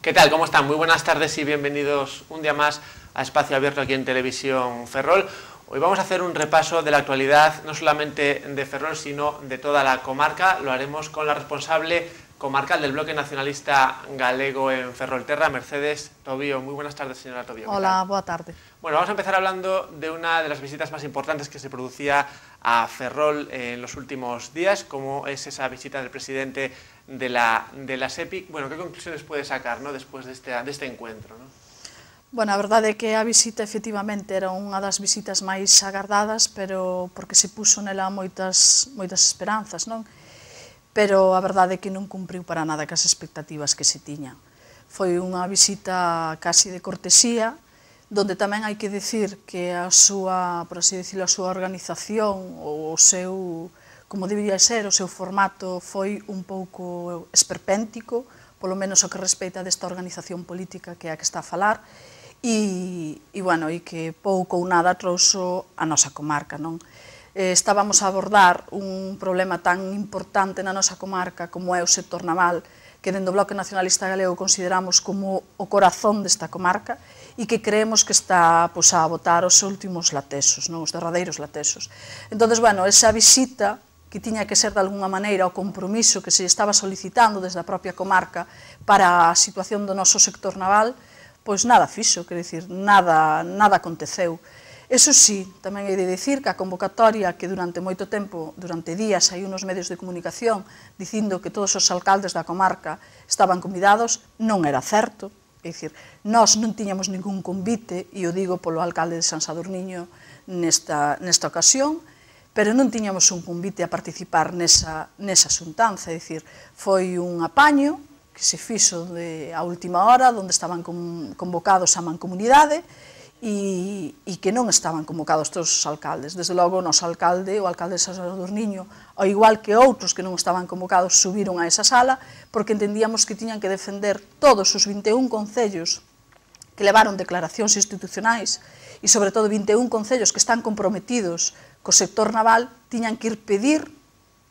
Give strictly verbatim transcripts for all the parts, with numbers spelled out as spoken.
¿Qué tal? ¿Cómo están? Muy buenas tardes y bienvenidos un día más a Espacio Abierto aquí en Televisión Ferrol. Hoy vamos a hacer un repaso de la actualidad, no solamente de Ferrol, sino de toda la comarca. Lo haremos con la responsable comarcal del Bloque Nacionalista Galego en Ferrolterra, Mercedes Tobío. Muy buenas tardes, señora Tobío. Hola, boa tarde. Bueno, vamos a empezar hablando de una de las visitas más importantes que se producía a Ferrol en los últimos días, como es esa visita del presidente de la, de la SEPI. Bueno, ¿qué conclusiones puede sacar, ¿no?, después de este, de este encuentro, ¿no? Bueno, a verdade é que a visita efectivamente era unha das visitas máis agardadas, pero porque se puso nela moitas, moitas esperanzas, non? Pero a verdade é que non cumpriu para nada cas expectativas que se tiña. Foi unha visita casi de cortesía, donde tamén hai que decir que a súa, por así decirlo, a súa organización, ou o seu, como debería ser, o seu formato foi un pouco esperpéntico, polo menos o que respeita desta organización política que é a que está a falar, e, e, bueno, e que pouco ou nada trouxo a nosa comarca, non? Eh, estábamos a abordar un problema tan importante na nosa comarca como é o sector naval, que dentro do Bloque Nacionalista Galego consideramos como o corazón desta comarca e que creemos que está pois, a botar os últimos latesos, non? Os derradeiros latesos. Entón, bueno, esa visita que tiña que ser de alguna maneira o compromiso que se estaba solicitando desde a propia comarca para a situación do noso sector naval, pois nada fixo, quer dicir, nada, nada aconteceu. Eso sí, tamén hai de dicir que a convocatoria que durante moito tempo, durante días, hai unos medios de comunicación dicindo que todos os alcaldes da comarca estaban convidados, non era certo. É dicir, nós non tiñamos ningún convite, e o digo polo alcalde de San Sadurniño nesta, nesta ocasión, pero non tiñamos un convite a participar nesa, nesa xuntanza, é dicir, foi un apaño que se fixo de, a última hora, onde estaban con, convocados a mancomunidade e, e que non estaban convocados todos os alcaldes. Desde logo, o noso alcalde, o alcalde de San Sadurniño, ao igual que outros que non estaban convocados, subiron a esa sala porque entendíamos que tiñan que defender todos os vinte e un concellos que levaron declaracións institucionais e, sobre todo, vinte e un concellos que están comprometidos co sector naval, tiñan que ir pedir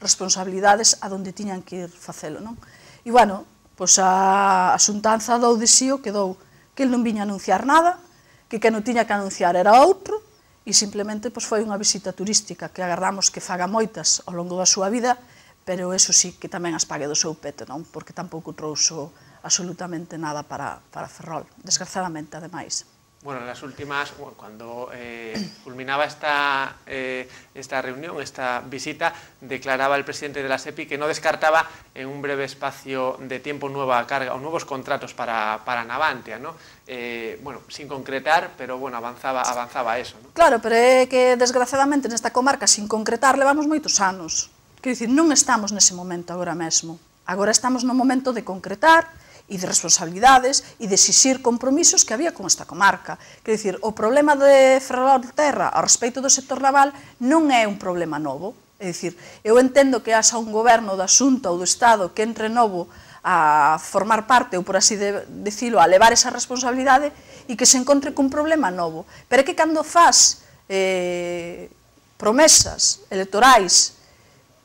responsabilidades a donde tiñan que ir facelo, non? E, bueno, pois a, a xuntanza dou de sí o que dou, que el non viña a anunciar nada, que que non tiña que anunciar era outro, e simplemente pois, foi unha visita turística que agardamos que faga moitas ao longo da súa vida, pero eso sí que tamén as pague do seu peto, non? Porque tampouco trouxo absolutamente nada para, para Ferrol, desgraciadamente, ademais. Bueno, en las últimas, bueno, cuando eh, culminaba esta, eh, esta reunión, esta visita, declaraba el presidente de la SEPI que no descartaba en un breve espacio de tiempo nueva carga o nuevos contratos para, para Navantia, ¿no? Eh, bueno, sin concretar, pero bueno, avanzaba, avanzaba eso, ¿no? Claro, pero é que desgraciadamente nesta comarca, sin concretar, levamos moitos anos. Quero dicir, non estamos nese momento agora mesmo. Agora estamos no momento de concretar e de responsabilidades e de exixir compromisos que había con esta comarca. Quer dicir, o problema de Ferrolterra ao respecto do sector naval non é un problema novo. É dicir, eu entendo que haxa un goberno da Xunta ou do Estado que entre novo a formar parte, ou por así de, decirlo, a levar esa responsabilidade e que se encontre cun problema novo. Pero é que cando faz eh, promesas electorais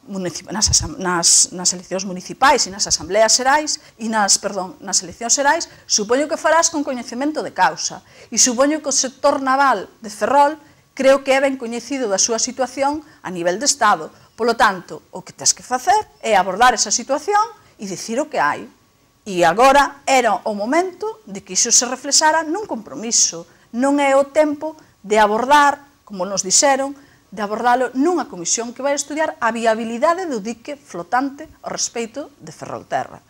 Nas, nas, nas eleccións municipais e nas asambleas xerais e nas, perdón, nas eleccións xerais, supoño que farás con coñecemento de causa e supoño que o sector naval de Ferrol creo que é ben coñecido da súa situación a nivel de Estado. Polo tanto, o que tens que facer é abordar esa situación e dicir o que hai. E agora era o momento de que iso se reflexara nun compromiso. Non é o tempo de abordar, como nos dixeron, de abordalo nunha comisión que vai estudiar a viabilidade do dique flotante ao respecto de Ferrolterra.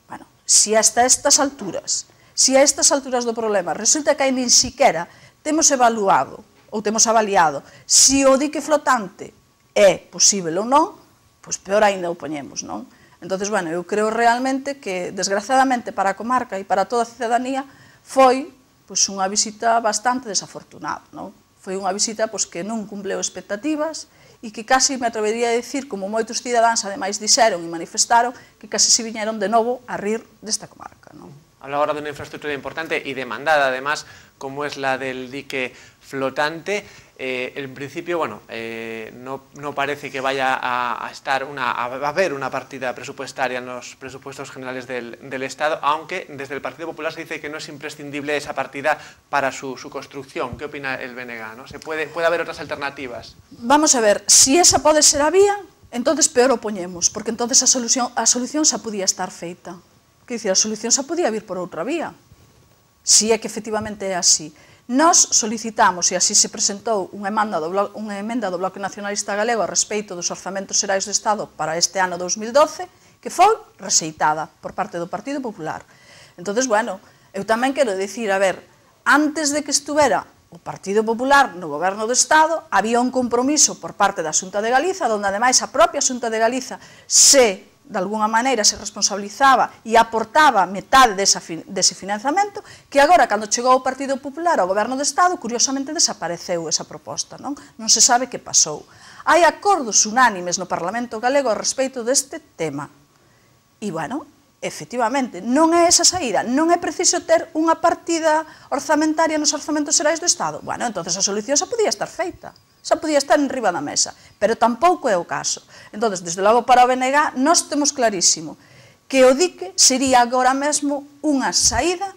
Bueno, se hasta estas alturas, se a estas alturas do problema resulta que nin siquera temos evaluado ou temos avaliado se o dique flotante é posible ou non, pois peor ainda o poñemos, non? Entón, bueno, eu creo realmente que, desgraciadamente, para a comarca e para toda a cidadanía, foi pois, unha visita bastante desafortunada, non? Foi unha visita pois, que non cumpleu expectativas e que casi me atrevería a dicir, como moitos cidadáns ademais dixeron e manifestaron, que casi se viñeron de novo a rir desta comarca, non? Habla ahora de una infraestructura importante y demandada, además, como es la del dique flotante. Eh, en principio, bueno, eh, no, no parece que vaya a, a estar una, a haber una partida presupuestaria en los presupuestos generales del, del Estado, aunque desde el Partido Popular se dice que no es imprescindible esa partida para su, su construcción. ¿Qué opina el B N G? ¿No? ¿Se puede, puede haber otras alternativas? Vamos a ver, si esa pode ser a vía, entonces peor o poñemos, porque entonces a solución, a solución xa podía estar feita. Que dicir, a solución xa podía vir por outra vía. Si é que efectivamente é así. Nós solicitamos, e así se presentou unha emenda do Bloque, unha emenda do Bloque Nacionalista Galego a respeito dos orzamentos xerais do Estado para este ano dous mil doce, que foi rexeitada por parte do Partido Popular. Entonces, bueno, eu tamén quero dicir, a ver, antes de que estuvera o Partido Popular no goberno do Estado, había un compromiso por parte da Xunta de Galiza, onde ademais a propia Xunta de Galiza se de alguna maneira se responsabilizaba e aportaba metade desa, dese financiamento, que agora, cando chegou o Partido Popular ao Goberno do Estado, curiosamente desapareceu esa proposta, non? Non se sabe que pasou. Hai acordos unánimes no Parlamento Galego a respeito deste tema. E, bueno, efectivamente, non é esa saída, non é preciso ter unha partida orzamentaria nos orzamentos xerais do Estado. Bueno, entonces a solución xa podía estar feita. Xa podía estar en riba da mesa, pero tampouco é o caso. Entón, desde logo, para o B N G, nós temos clarísimo que o dique sería agora mesmo unha saída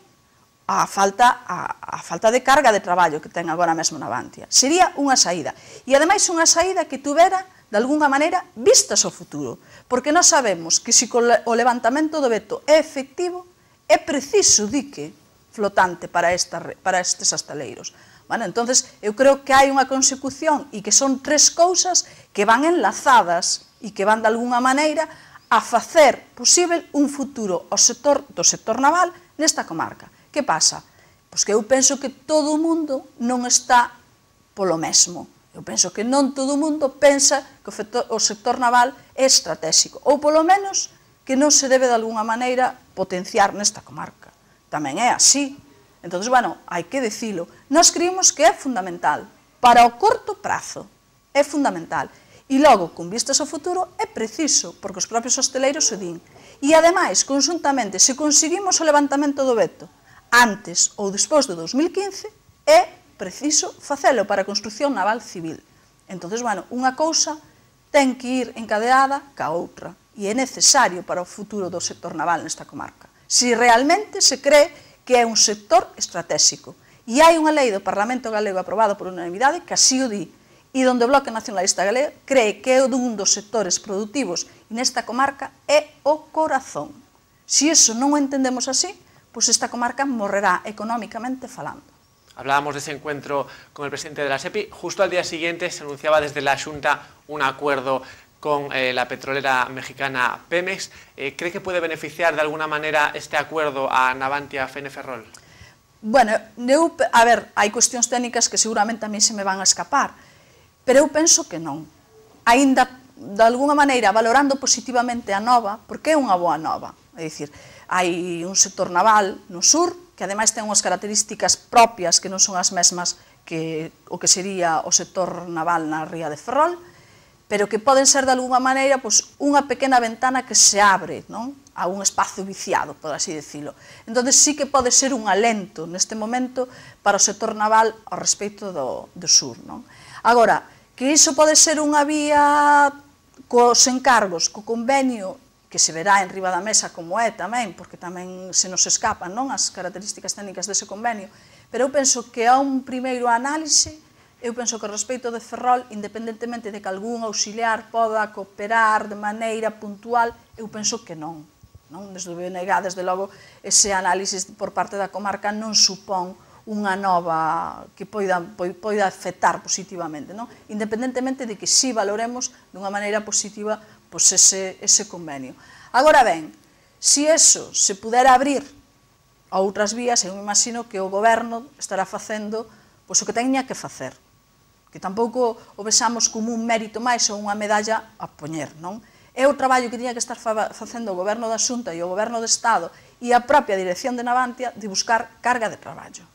á falta, á, á falta de carga de traballo que ten agora mesmo na Navantia. Sería unha saída. E, ademais, unha saída que tuvera, de alguna maneira, vistas ao futuro. Porque nós sabemos que se o levantamento do veto é efectivo, é preciso dique flotante para, esta, para estes astaleiros. Bueno, entonces, eu creo que hai unha consecución e que son tres cousas que van enlazadas e que van, de alguna maneira, a facer posible un futuro ao sector, do sector naval nesta comarca. Que pasa? Pois que eu penso que todo o mundo non está polo mesmo. Eu penso que non todo o mundo pensa que o sector naval é estratégico, ou polo menos que non se debe, de alguna maneira, potenciar nesta comarca. Tamén é así. Entón, bueno, hai que dicilo. Nós creemos que é fundamental. Para o corto prazo, é fundamental. E logo, con vistas ao futuro, é preciso, porque os propios hosteleiros o din. E, ademais, conjuntamente, se conseguimos o levantamento do veto antes ou despois de dos mil quince, é preciso facelo para a construción naval civil. Entón, bueno, unha cousa ten que ir encadeada ca outra. E é necesario para o futuro do sector naval nesta comarca. Se realmente se cree que é un sector estratégico. E hai unha lei do Parlamento Galego aprobada por unanimidade que así o di, e donde o Bloque Nacionalista Galego cree que é un dos sectores productivos e nesta comarca é o corazón. Se iso non o entendemos así, pois esta comarca morrerá económicamente falando. Hablábamos de ese encuentro con el presidente de la SEPI. Justo al día siguiente se anunciaba desde la Xunta un acuerdo con eh, la petrolera mexicana Pemex. Eh, ¿Cree que puede beneficiar de alguna manera este acuerdo a Navantia F N Ferrol? Bueno, eu, a ver, hai cuestións técnicas que seguramente a mí se me van a escapar, pero eu penso que non. Ainda, de alguna maneira, valorando positivamente a nova, porque é unha boa nova. É dicir, hai un sector naval no sur, que ademais ten unhas características propias que non son as mesmas que o que sería o sector naval na ría de Ferrol, pero que poden ser, de alguna maneira, pois, unha pequena ventana que se abre, non? A un espazo viciado, por así decirlo. Entón, sí que pode ser un alento neste momento para o sector naval ao respecto do, do sur, non? Agora, que iso pode ser unha vía cos encargos, co convenio, que se verá en riba da mesa como é tamén, porque tamén se nos escapan, non, as características técnicas dese convenio, pero eu penso que a un primeiro análise, eu penso que o respecto de Ferrol, independentemente de que algún auxiliar poda cooperar de maneira puntual, eu penso que non. Desde o B N G, desde logo, ese análisis por parte da comarca non supón unha nova que poida, poida afectar positivamente, non? Independentemente de que si valoremos dunha maneira positiva pois ese, ese convenio. Agora ben, se eso se pudera abrir a outras vías, eu me imagino que o goberno estará facendo pois o que teña que facer, que tampouco o vexamos como un mérito máis ou unha medalla a poñer, non? É o traballo que tiña que estar facendo o goberno da Xunta e o goberno do Estado e a propia dirección de Navantia de buscar carga de traballo.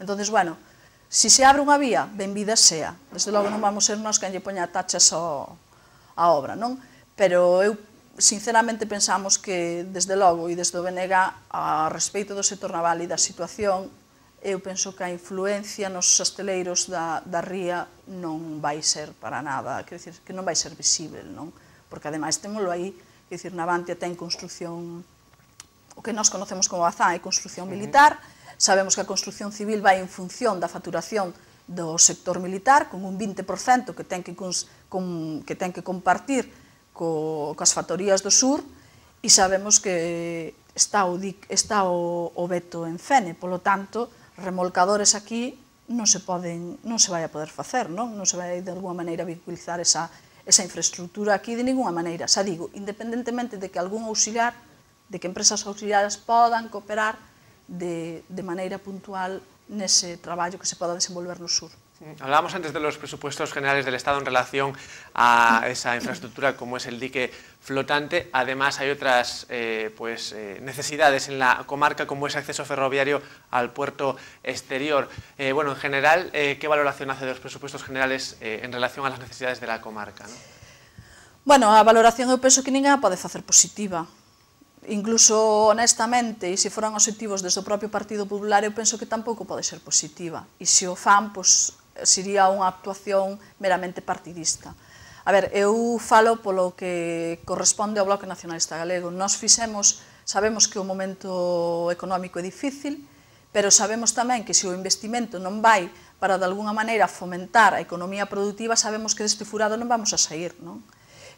Entón, bueno, se se abre unha vía, benvida sea. Desde logo non vamos ser nós quen lle poña tachas á obra, non? Pero eu sinceramente pensamos que, desde logo, e desde o B N G, a respeito do sector naval e da situación, eu penso que a influencia nos hosteleiros da, da ría non vai ser para nada, quer dizer, que non vai ser visible, non? Porque, ademais, témolo aí, quer dizer, Navantia ten construción, o que nós conocemos como Bazán, é construción militar, sabemos que a construción civil vai en función da facturación do sector militar, con un vinte por cento que ten que, con, que, ten que compartir co, coas factorías do sur, e sabemos que está o, está o, o veto en Fene, polo tanto, remolcadores aquí non se poden, non se vai a poder facer, non? Non se vai de alguma maneira vinculizar esa, esa infraestructura aquí de ninguna maneira. Xa digo, independentemente de que algún auxiliar, de que empresas auxiliares podan cooperar de, de maneira puntual nese traballo que se poda desenvolver no sur. Hablábamos antes de los presupuestos generales del Estado en relación a esa infraestructura como es el dique flotante. Además hay otras eh, pues, eh, necesidades en la comarca como ese acceso ferroviario al puerto exterior. Eh, bueno, en general, eh, ¿qué valoración hace de los presupuestos generales eh, en relación a las necesidades de la comarca, ¿no? Bueno, a valoración eu penso que ninguén a pode facer positiva. Incluso, honestamente, e se foran objetivos desde o propio Partido Popular, eu penso que tampouco pode ser positiva. E se o fan, pois, sería unha actuación meramente partidista. A ver, eu falo polo que corresponde ao Bloque Nacionalista Galego. Nós fixemos, sabemos que o momento económico é difícil, pero sabemos tamén que se o investimento non vai para, de alguna maneira, fomentar a economía productiva, sabemos que deste furado non vamos a sair, non?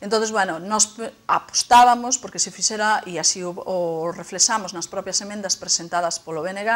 Entón, bueno, nós apostábamos porque se fixera, e así o, o reflexamos nas propias emendas presentadas polo B N G,